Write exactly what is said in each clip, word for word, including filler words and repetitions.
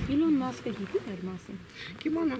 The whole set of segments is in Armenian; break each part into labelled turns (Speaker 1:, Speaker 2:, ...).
Speaker 1: Իլոն Մասկը գիտի մեր մասին։
Speaker 2: Կիմանա։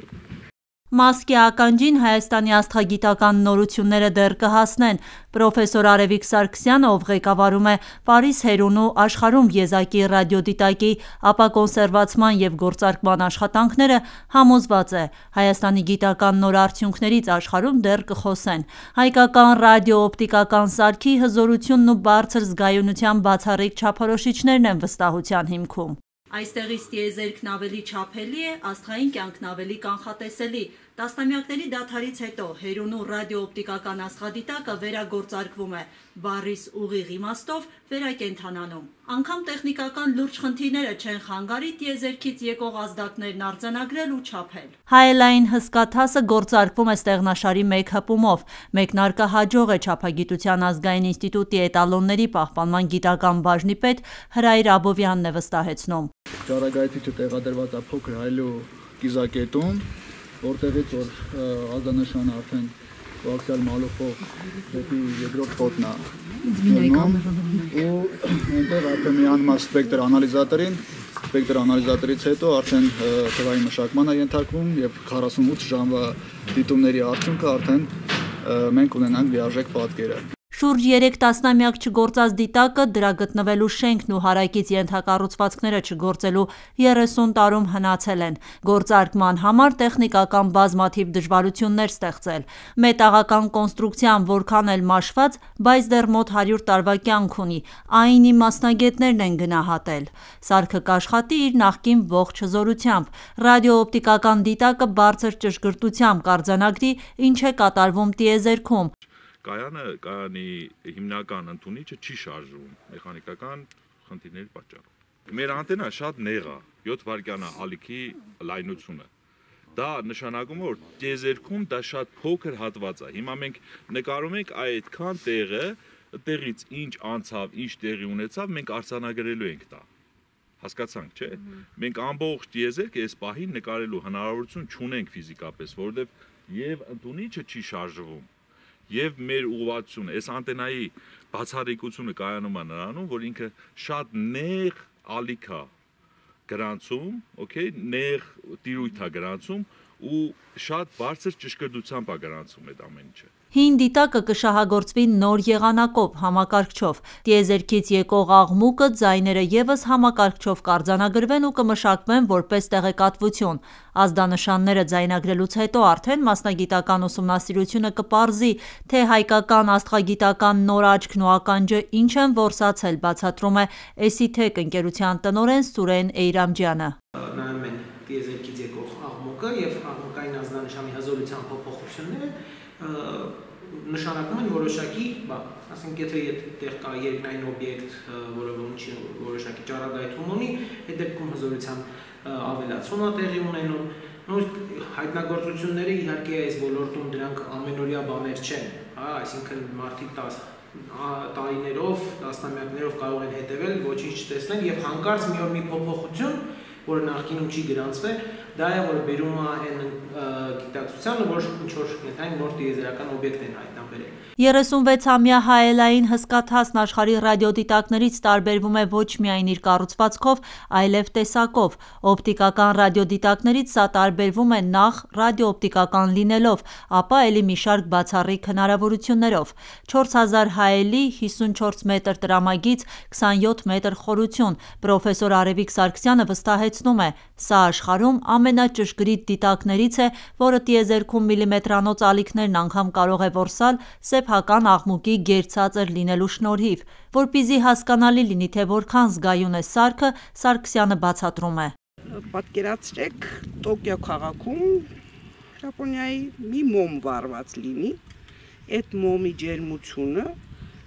Speaker 3: Մասկի ականջին Հայաստանի աստղագիտական նորությունները դեռ կհասնեն։ Պրոֆեսոր Արևիկ Սարգսյանը, ով ղեկավարում է Պարիս Հերունու աշխարհում եզակի ռադիոդիտակի ապակոնսերվացման և գործարկման աշխատանքները, համոզված է, Հայաստանի գիտական նոր արդյունքներից աշխարհում դեռ կխոսեն։ Հայկական ռադիոօպտիկական սարքի հզորությունն ու բարձր զգայունության բացառիկ չափորոշիչներն են վստահության հիմքում։ Այստեղից տիեզերքն ավելի չափելի է, աստղային կյանքն ավելի կանխատեսելի։ Տասնամյակների դադարից հետո Հերունու ռադիոօպտիկական աստղադիտակը վերագործարկվում է, բառիս ուղիղ իմաստով վերակենդանանում։ Անգամ տեխնիկական լուրջ խնդիրները չեն խանգարի տիեզերքից եկող ազդակներն արձանագրել ու չափել։ Հայելային հսկաթասը գործարկվում է ստեղնաշարի մեկ հպումով։ Մեկնարկը հաջող է, չափագիտության ազգային ինստիտուտի էտալոնների պահպանման գիտական բաժնի պետ Հրայր Աբովյանն է վստահեցնում։
Speaker 4: Ճառագայթիչը տեղադրված է փոքր հայելու կիզակետում, որտեղից որ ազդանշանը արդեն կոաքսիալ մալուխով դեպի երկրորդ խոտն է ու այնտեղ արդեն միանում է սպեկտր անալիզատորին, սպեկտր անալիզատորից հետո արդեն թվային մշակման է ենթարկվում եւ քառասունութ ժամվա դիտումների արդյունքը արդեն մենք ունենանք լիարժեք պատկերը։
Speaker 3: Շուրջ երեք տասնամյակ չգործած դիտակը, դրա գտնվելու շենքն ու հարակից ենթակառուցվածքները չգործելու երեսուն տարում հնացել են։ Գործարկման համար տեխնիկական բազմաթիվ դժվարություններ ստեղծել։ Մետաղական կոնստրուկցիան որքան էլ մաշված, բայց դեռ մոտ հարյուր տարվա կյանք ունի, այնի մասնագետներն են գնահատել։ Սարքը կաշխատի իր նախկին ողջ հզորությամբ։ Ռադիոօպտիկական դիտակը բարձր ճշգրտությամբ կարձանագրի, ինչ է կատարվում տիեզերքում։
Speaker 5: Կայանը, կայանի հիմնական ընդունիչը չի շարժվում մեխանիկական խնդիրների պատճառով։ Մեր անտենան շատ նեղ է, յոթ վայրկյան է ալիքի լայնությունը։ Դա նշանակում է, որ տիեզերքում դա շատ փոքր հատված է։ Հիմա մենք նկարում ենք այդքան տեղը, տեղից ինչ անցավ, ինչ տեղի ունեցավ, մենք արձանագրելու ենք դա։ Հասկացանք, չէ՞։ Մենք ամբողջ տիեզերքը այս պահին նկարելու հնարավորություն չունենք ֆիզիկապես, որովհետև եւ ընդունիչը չի շարժվում։ Եվ մեր ուղղվածությունը, այս անտենայի բացառիկությունը կայանում է նրանում, որ ինքը շատ նեղ ալիք է գրանցում, okay, նեղ տիրույթ է գրանցում ու շատ բարձր ճշգրտությամբ է գրանցում այդ ամեն ինչը։
Speaker 3: Հին դիտակը կշահագործվի նոր եղանակով, համակարգչով։ Տիեզերքից եկող աղմուկը, ձայները ևս համակարգչով կարձանագրվեն ու կմշակվեն որպես տեղեկատվություն։ Ազդանշանները ձայնագրելուց հետո արդեն մասնագիտական ուսումնասիրությունը կպարզի, թե հայկական աստղագիտական նոր աչքն ու ականջը ինչ են որսացել, բացատրում է Էսիթեք ընկերության տնօրեն Սուրեն Էյրամջյանը։
Speaker 6: Նայում են տիեզերքից եկող աղմուկը եւ աղմուկային ազդանշանի հզորության փոփոխությունները նշանակում են որոշակի, ասենք եթե այդտեղ կա երկնային օբյեկտ, որը որոշակի ճառագայթում ունի, այդ դեպքում հզորության ավելացում է տեղի ունենում։ Հայտնագործությունները իհարկե այս ոլորտում դրանք ամենօրյա բաներ չեն, հա, այսինքն մարդիկ տարիներով, տասնամյակներով կարող են հետևել, ոչինչ չտեսնել եւ հանկարծ մի օր մի փոփոխություն, որը նախկինում չի գրանցվել, դա է, որը բերում է այն գիտակցությանը, որ ինչ-որ նոր տիեզերական օբյեկտ են հայտնաբերել։
Speaker 3: երեսունվեցամյա հայելային հսկաթասն աշխարհի ռադիոդիտակներից տարբերվում է ոչ միայն իր կառուցվածքով, այլև տեսակով։ Օպտիկական ռադիոդիտակներից սա տարբերվում է նախ ռադիոօպտիկական լինելով, ապա ելի մի շարք բացառիկ հնարավորություններով։ չորս հազար հայելի, հիսունչորս մետր տրամագիծ, քսանյոթ մետր խորություն։ Պրոֆեսոր Արևիկ Սարգսյանը վստահեցնում է, սա աշխարհում ամենաճշգրիտ դիտակներից է, որը տիեզերքում միլիմետրանոց ալիքներն անգամ կարող է որսալ սեփական աղմուկի գերցածր լինելու շնորհիվ։ Որպեսզի հասկանալի լինի, թե որքան զգայուն է սարքը, Սարգսյանը բացատրում է։
Speaker 2: Պատկերացրեք Տոկիո քաղաքում Ճապոնիայի մի մոմ վառված լինի, այդ մոմի ջերմությունը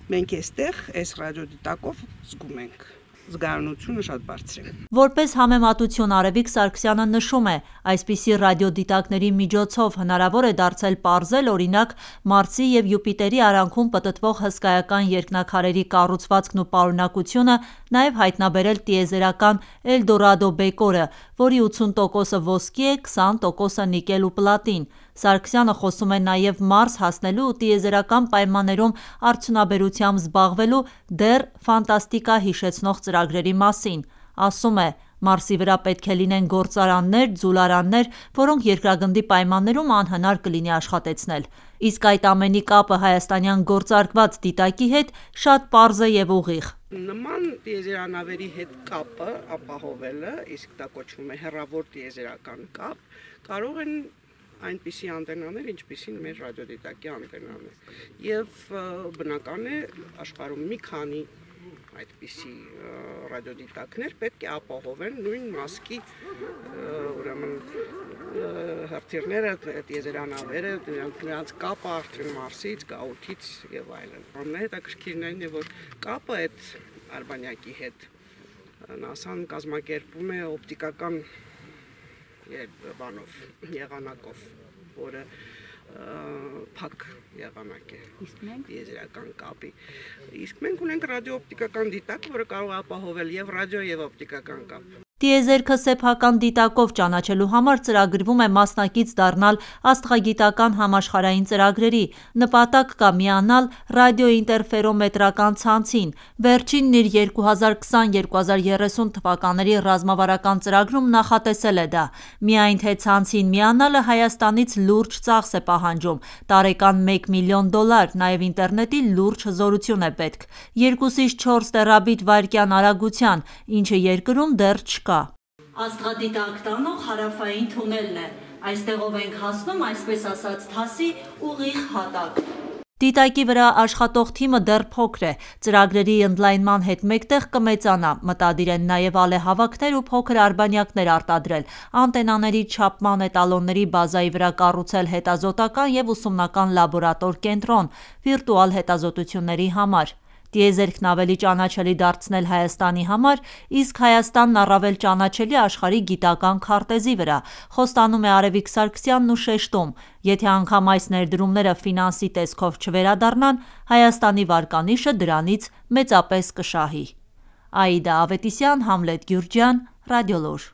Speaker 2: մենք այստեղ այս ռադիոդիտակով զգում ենք։ Զգայունությունը շատ բարձր է։
Speaker 3: Որպես համեմատություն Արևիկ Սարգսյանը նշում է, այսպիսի ռադիոդիտակների միջոցով հնարավոր է դարձել պարզել օրինակ Մարսի եւ Յուպիտերի արանքում պտտվող հսկայական երկնաքարերի կառուցվածքն ու պարունակությունը, նաեւ հայտնաբերել տիեզերական Էլդորադո բեկորը, որի ութսուն տոկոսը ոսկի է, քսան տոկոսը նիկել ու պլատին։ Սարգսյանը խոսում է նաև Մարս հասնելու ու տիեզերական պայմաններում արդյունաբերությամբ զբաղվելու դեռ ֆանտաստիկա հիշեցնող ծրագրերի մասին։ Ասում է, Մարսի վրա պետք է լինեն գործարաններ, ձուլարաններ, որոնք երկրագնդի պայմաններում անհնար կլինի աշխատեցնել։ Իսկ այդ ամենի կապը հայաստանյան գործարկված դիտակի հետ շատ պարզ է և ուղիղ։
Speaker 2: Նման տիեզերանավերի հետ կապը ապահովելը, իսկ դա կոչվում է հեռավոր տիեզերական կապ, կարող են այնպիսի անտենաներ, ինչպիսին մեր ռադիոդիտակի անտենան է։ Եվ բնական է աշխարհում մի քանի այդպիսի ռադիոդիտակներ պետք է ապահովեն նույն մասկի ուրեմն հրթիռները, տիեզերանավերը, նրանց կապը արդեն Մարսից, գաղութից եւ այլն։ Ամենահետաքրքիրն այն է, որ կապը այդ արբանյակի հետ նասան կազմակերպում է օպտիկական բանով, եղանակով, որը փակ եղանակ է տիեզերական կապի։ Իսկ մենք ունենք ռադիոօպտիկական դիտակ, որը կարող է ապահովել եւ ռադիո եւ օպտիկական կապ։
Speaker 3: Տիեզերքը սեփական դիտակով ճանաչելու համար ծրագրվում է մասնակից դառնալ աստղագիտական համաշխարհային ծրագրերի, նպատակ կա միանալ ռադիոինտերֆերոմետրական ցանցին։ Վերջինն իր երկու հազար քսան երկու հազար երեսուն թվականների ռազմավարական ծրագրում նախատեսել է դա։ Միայն թե ցանցին միանալը Հայաստանից լուրջ ծախս է պահանջում, տարեկան մեկ միլիոն դոլար, նաև ինտերնետի լուրջ հզորություն է պետք, երկուսից չորս տերաբիտ վայրկյան արագության, ինչը երկրում դեռ չկա։ Աստղադիտակ տանող հարավային թունելն է, այստեղով ենք հասնում այսպես ասած թասի ուղիղ հատակ։ Դիտակի վրա աշխատող թիմը դեռ փոքր է, ծրագրերի ընդլայնման հետ մեկտեղ կմեծանա, մտադիր են նաև ալեհավաքներ ու փոքր արբանյակներ արտադրել, անտենաների չափման էտալոնների բազայի վրա կառուցել հետազոտական և ուսումնական լաբորատոր կենտրոն վիրտուալ հետազոտությունների համար։ Տիեզերքն ավելի ճանաչելի դարձնել Հայաստանի համար, իսկ Հայաստանն առավել ճանաչելի աշխարհի գիտական քարտեզի վրա, խոստանում է Արևիկ Սարգսյանն ու շեշտում, եթե անգամ այս ներդրումները ֆինանսի տեսքով չվերադառնան, Հայաստանի վարկանիշը դրանից մեծապես կշահի։ Աիդա Ավետիսյան, Համլետ Գյուրջյան, Ռադիոլուր։